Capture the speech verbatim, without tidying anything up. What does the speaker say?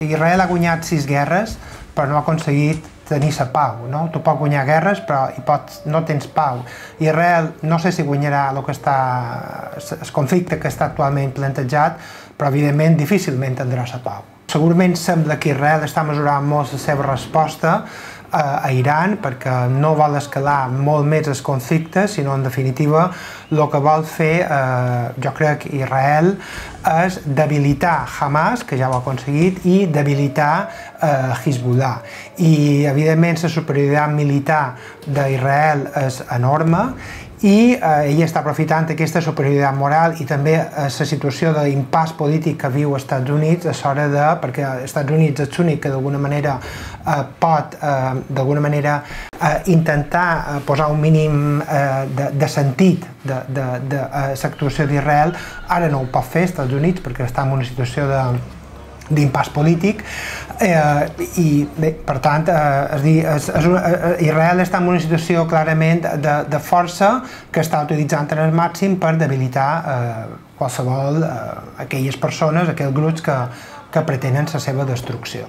Israel ha guanyat sis guerres, però no ha aconseguit tenir la pau. No? Tu pots guanyar guerres, però hi pots, no tens pau. Israel no sé si guanyarà el, que està, el conflicte que està actualment plantejat, però evidentment difícilment tindrà la pau. Segurament sembla que Israel està mesurant molt la seva resposta a Iran perquè no vol escalar molt més el conflicte, sinó en definitiva el que vol fer, eh, jo crec, Israel és debilitar Hamas, que ja ho ha aconseguit, i debilitar eh, Hezbollah. I evidentment la superioritat militar d'Israel és enorme i eh, ell està aprofitant aquesta superioritat moral i també eh, la situació d'impàs polític que viu als Estats Units, a l'hora de, perquè els Estats Units és l'únic que d'alguna manera eh, pot eh, d'alguna manera eh, intentar eh, posar un mínim eh, de, de sentit de, de, de eh, l'actuació d'Israel. Ara no ho pot fer als Estats Units perquè està en una situació de d'impàs polític eh, i bé, per tant eh, és dir, és, és una, eh, Israel està en una situació clarament de, de força que està utilitzant en el màxim per debilitar eh, qualsevol eh, aquelles persones, aquells grups que, que pretenen la seva destrucció.